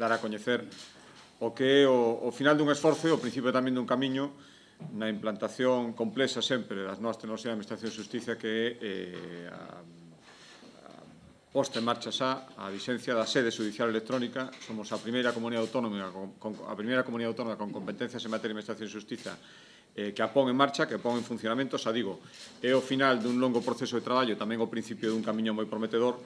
dar a coñecer o que é o final dun esforzo e o principio tamén dun camiño na implantación complexa sempre das nosa tecnoloxía de Administración de Xustiza, que é a posta en marcha xa a vixencia da sede judicial electrónica. Somos a primeira comunidade autónoma con competencias en materia de Administración de Xustiza que a pon en marcha, que a pon en funcionamento. Xa digo, é o final dun longo proceso de traballo, tamén o principio dun camiño moi prometedor,